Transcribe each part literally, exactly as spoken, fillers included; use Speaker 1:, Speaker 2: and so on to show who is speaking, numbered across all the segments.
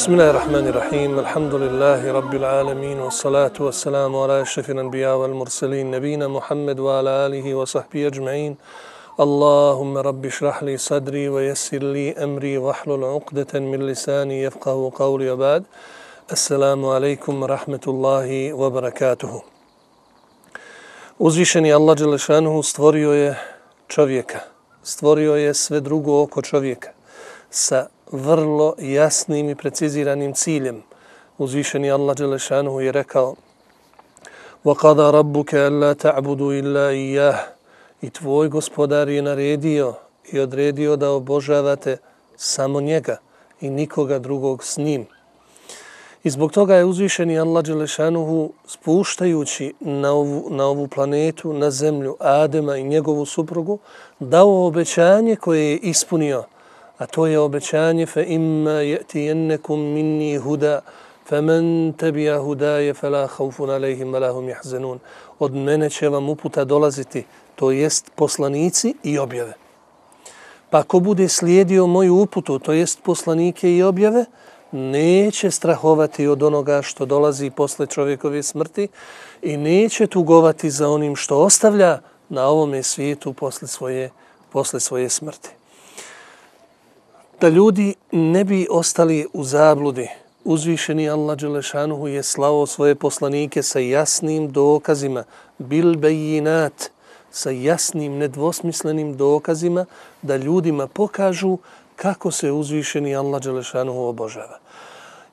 Speaker 1: Bismillahirrahmanirrahim. Alhamdulillahi rabbil alamin wa salatu wa salamu ala ashrafil anbiya wal mursalin nabina Muhammad wa ala alihi wa sahbihi ajma'in. Allahumma rabbi shrah li sadri wa yassir li amri wa hlul 'uqdatan min lisani yafqahu qawli wa ba'd. Assalamu alaikum wa rahmatullahi wa barakatuhu. Uzvišeni Allah dželle šanuhu stvorio je čovjeka. Stvorio je sve drugo oko čovjeka sa vrlo jasnim i preciziranim ciljem. Uzvišeni Allah dželle šanuhu je rekao: وَقَضَى رَبُّكَ أَلَّا تَعْبُدُوا إِلَّا إِيَّهُ. I tvoj gospodar je naredio i odredio da obožavate samo njega i nikoga drugog s njim. I zbog toga je uzvišeni Allah dželle šanuhu spuštajući na ovu, na ovu planetu, na zemlju Adema i njegovu suprugu, dao obećanje koje je ispunio. A to je obećanje fa imma ya'tiyannakum minni huda faman tabi'a hudaya fala khawfun alayhim wala hum yahzanun. Od mene će vam uputa dolaziti, to jest poslanici i objave. Pa ko bude slijedio moju uputu, to jest poslanike i objave, neće strahovati od onoga što dolazi posle čovjekove smrti i neće tugovati za onim što ostavlja na ovome svijetu posle svoje, posle svoje smrti. Da ljudi ne bi ostali u zabludi, uzvišeni Allah dželle šanuhu je slao svoje poslanike sa jasnim dokazima, bil bejinat, sa jasnim, nedvosmislenim dokazima, da ljudima pokažu kako se uzvišeni Allah dželle šanuhu obožava.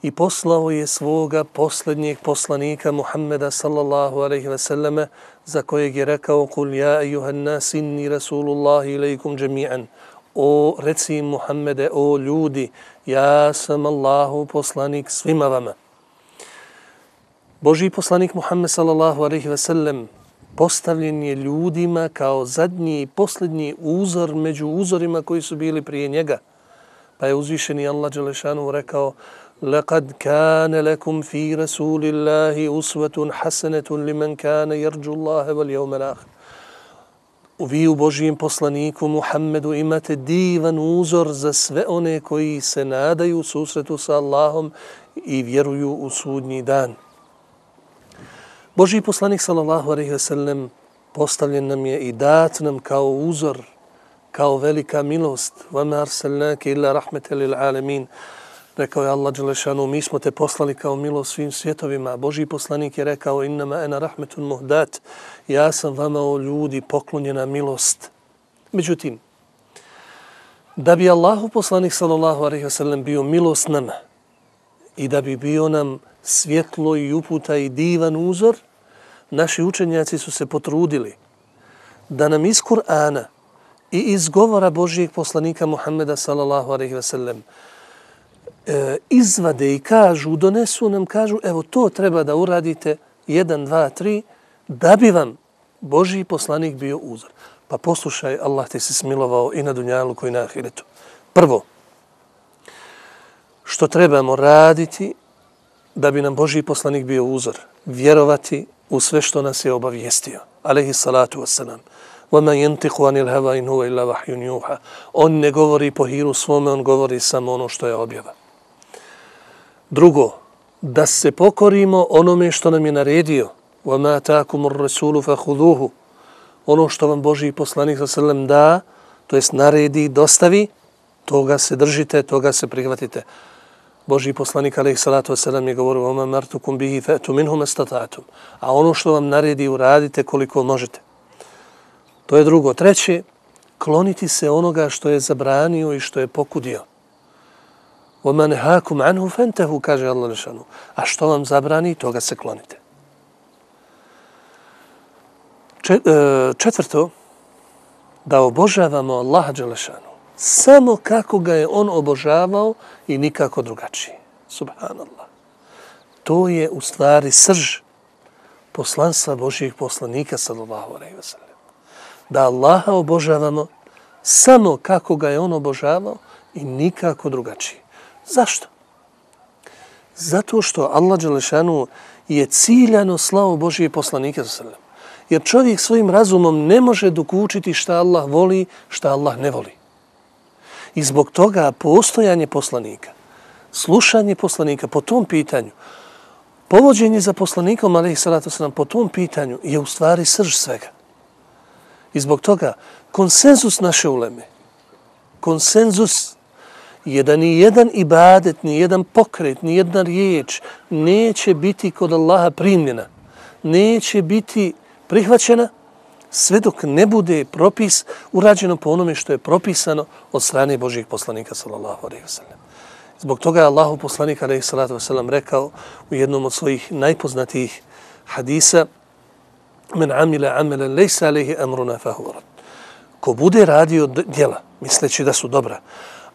Speaker 1: I poslao je svoga posljednjeg poslanika Muhammeda sallallahu alejhi ve selleme, za kojeg je rekao: "Kul ja ejuhan nas inni rasulullahi ilejkum džemi'an." O, reci Muhammede, o ljudi, ja sam Allahu poslanik svima vama. Božji poslanik Muhammed sallallahu alejhi ve sellem postavljen je ljudima kao zadnji i posljednji uzor među uzorima koji su bili prije njega. Pa je uzvišeni Allah dželle šanuhu rekao: "Laqad kana lakum fi rasulillahi uswatun hasanatun liman kana yarju Allaha wal yawmal akhir." Vi u Božijem poslaniku Muhammedu imate divan uzor za sve one koji se nadaju susretu sa Allahom i vjeruju u sudnji dan. Božji poslanik sallallahu alejhi ve sellem postavljen nam je i dat nam kao uzor, kao velika milost. وَمَا أَرْسَلْنَاكَ إِلَّا رَحْمَةً لِلْعَالَمِينَ. Rekao je Allah dželle šanuhu, mi smo te poslali kao milost svim svjetovima. Božji poslanik je rekao: "Innama ana rahmetun muhdat." Ja sam vama, o ljudi, poklonjena milost. Međutim, da bi Allahu poslanik sallallahu alejhi ve sellem bio milost nama i da bi bio nam svjetlo i uputa i divan uzor, naši učenjaci su se potrudili da nam iz Kur'ana i iz govora Božijeg poslanika Muhammeda sallallahu alejhi ve sellem e, izvade i kažu, donesu nam, kažu, evo to treba da uradite, jedan, dva, tri, da bi vam Božji poslanik bio uzor. Pa poslušaj, Allah ti se smilovao i na dunjaluku i na ahiretu. Prvo, što trebamo raditi da bi nam Božji poslanik bio uzor, vjerovati u sve što nas je obavijestio. Alejhi salatu wassalam. وَمَا يَنْتِقُ عَنِ الْهَوَا إِنْ هُوَ إِلَّا وَحْيٌ يُوحَى. On ne govori po hiru svome, on govori samo ono što je objava. Drugo, da se pokorimo onome što nam je naredio. وَمَا تَاكُمُ الرَّسُولُ فَخُذُوهُ. Ono što vam Božji poslanik sallallahu alejhi ve sellem da, to jest naredi, dostavi, toga se držite, toga se prihvatite. Božji poslanik alejhi salatu vesselam je govorio: "Oma martukum bihi fa'tu minhu mastata'tum." A ono što vam naredi uradite koliko možete. To je drugo. Treće, kloniti se onoga što je zabranio i što je pokudio. "Oma nehakum anhu fantahu", kaže Allah dželle. A što vam zabrani, toga se klonite. Četvrto, da obožavamo Allaha dželle šanuhu samo kako ga je on obožavao i nikako drugačije. Subhanallah. To je u stvari srž poslanstva Božjih poslanika sallallahu alejhi ve sellem. Da Allaha obožavamo samo kako ga je on obožavao i nikako drugačije. Zašto? Zato što Allah dželle šanuhu je ciljano slao Božje poslanike sallallahu alejhi ve sellem. Jer čovjek svojim razumom ne može dokučiti šta Allah voli, šta Allah ne voli. I zbog toga postojanje poslanika slušanje poslanika po tom pitanju, povođenje za poslanikom, alejhi salatu vesselam, po tom pitanju je u stvari srž svega. I zbog toga konsenzus naše uleme, konsenzus je da ni jedan ibadet, ni jedan pokret, ni jedna riječ neće biti kod Allaha primljena, neće biti prihvaćena sve dok ne bude propis urađeno po onome što je propisano od strane Božijeg poslanika sallallahu alejhi ve sellem. Zbog toga je Allahu poslanik alejhi salatu vesselam rekao u jednom od svojih najpoznatijih hadisa: "Men amila amalan laysa alayhi amruna fahuwa rad." Ko bude radio djela misleći da su dobra,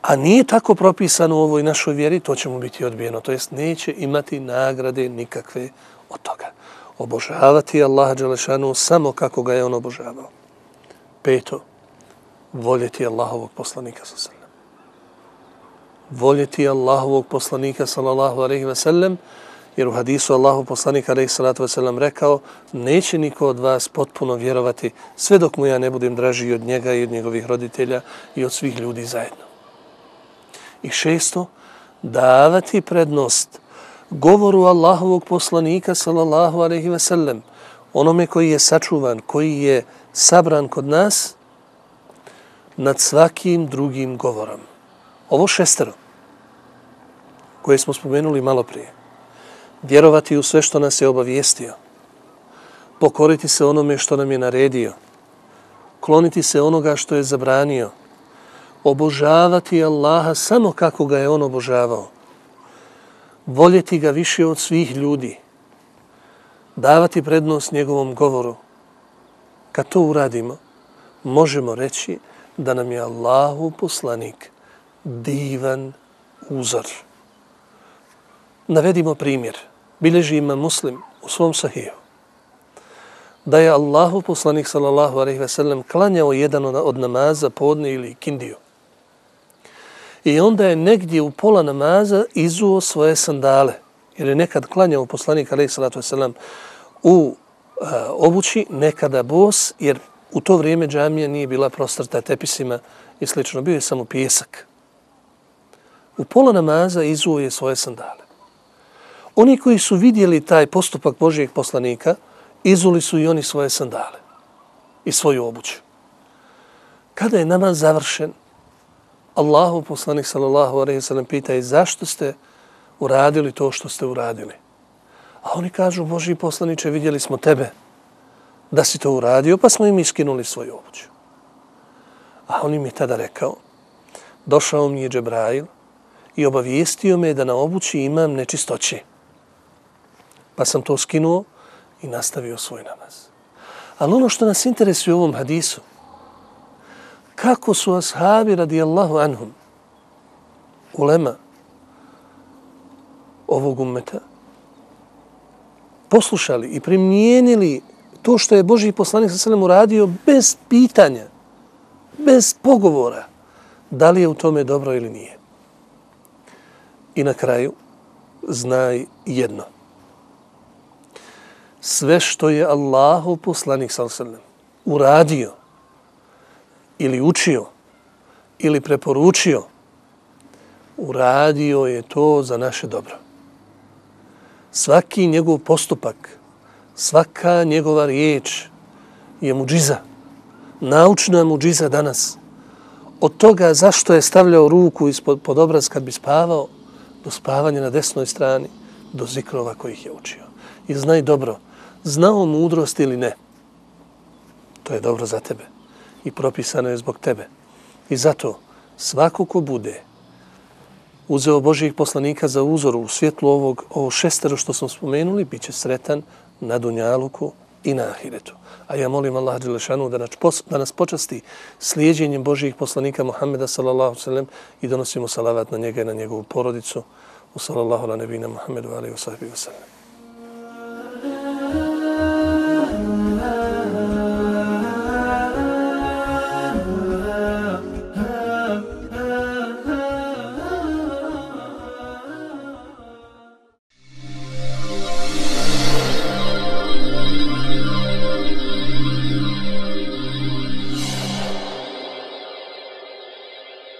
Speaker 1: a nije tako propisano u ovoj našoj vjeri, to će mu biti odbijeno, to jest neće imati nagrade nikakve od toga. Obožavati Allaha dželešanu samo kako ga je on obožavao. Peto, voljeti Allahovog poslanika sallallahu alejhi ve sellem. Voljeti Allahovog poslanika sallallahu alejhi ve sellem, jer u hadisu Allahov poslanika alejhi salatu vesselam rekao: neće niko od vas potpuno vjerovati sve dok mu ja ne budem draži od njega i od njegovih roditelja i od svih ljudi zajedno. I šesto, davati prednost govoru Allahovog poslanika sallallahu alejhi ve sellem, onome koji je sačuvan, koji je sabran kod nas, nad svakim drugim govorom. Ovo šestero koje smo spomenuli malo prije. Vjerovati u sve što nas je obavijestio, pokoriti se onome što nam je naredio, kloniti se onoga što je zabranio, obožavati Allaha samo kako ga je on obožavao, voljeti ga više od svih ljudi, davati prednost njegovom govoru. Kad to uradimo, možemo reći da nam je Allahu poslanik divan uzor. Navedimo primjer. Bileži Imam Muslim u svom sahiju da je Allahu poslanik sallallahu alejhi ve sellem klanjao jedan od namaza, podne ili kindiju. I onda je negdje u pola namaza izuo svoje sandale, jer je nekad klanjao poslanik alejhi salatu vesselam u a, obući, nekada bos, jer u to vrijeme džamija nije bila prostrta tepisima i slično, bio je samo pijesak. U pola namaza izuo je svoje sandale. Oni koji su vidjeli taj postupak Božijeg poslanika, izuli su i oni svoje sandale i svoju obuću. Kada je namaz završen, Allahu poslanik sallallahu alejhi ve sellem pita: i zašto ste uradili to što ste uradili? A oni kažu: Božji poslaniče, vidjeli smo tebe da si to uradio, pa smo im iskinuli svoju obuću. A on im je tada rekao: došao mi je Džebrail i obavijestio me da na obući imam nečistoće. Pa sam to skinuo i nastavio svoj namaz. Ali ono što nas interesuje u ovom hadisu, kako su ashabi radijallahu anhum, ulema ovog ummeta, poslušali i primijenili to što je Božji poslanik sallallahu alejhi ve sellem uradio bez pitanja, bez pogovora, da li je u tome dobro ili nije. I na kraju, znaj jedno. Sve što je Allahov poslanik sallallahu alejhi ve sellem uradio ili učio ili preporučio, uradio je to za naše dobro. Svaki njegov postupak, svaka njegova riječ je muđiza, naučna muđiza danas. Od toga zašto je stavljao ruku ispod pod obraz kad bi spavao, do spavanja na desnoj strani, do zikrova kojih je učio. I znaj dobro, znao mudrost ili ne, to je dobro za tebe i propisano je zbog tebe. I zato svako ko bude uzeo Božijeg poslanika za uzor u svjetlu ovog, ovo šestero što smo spomenuli, bit će sretan na dunjaluku i na ahiretu. A ja molim Allah dželešanu da nas, da nas počasti slijedjenjem Božijeg poslanika Muhammeda sallallahu alejhi ve sellem i donosimo salavat na njega i na njegovu porodicu. U sallallahu ala nebina Muhammedu alejhi ve sellem.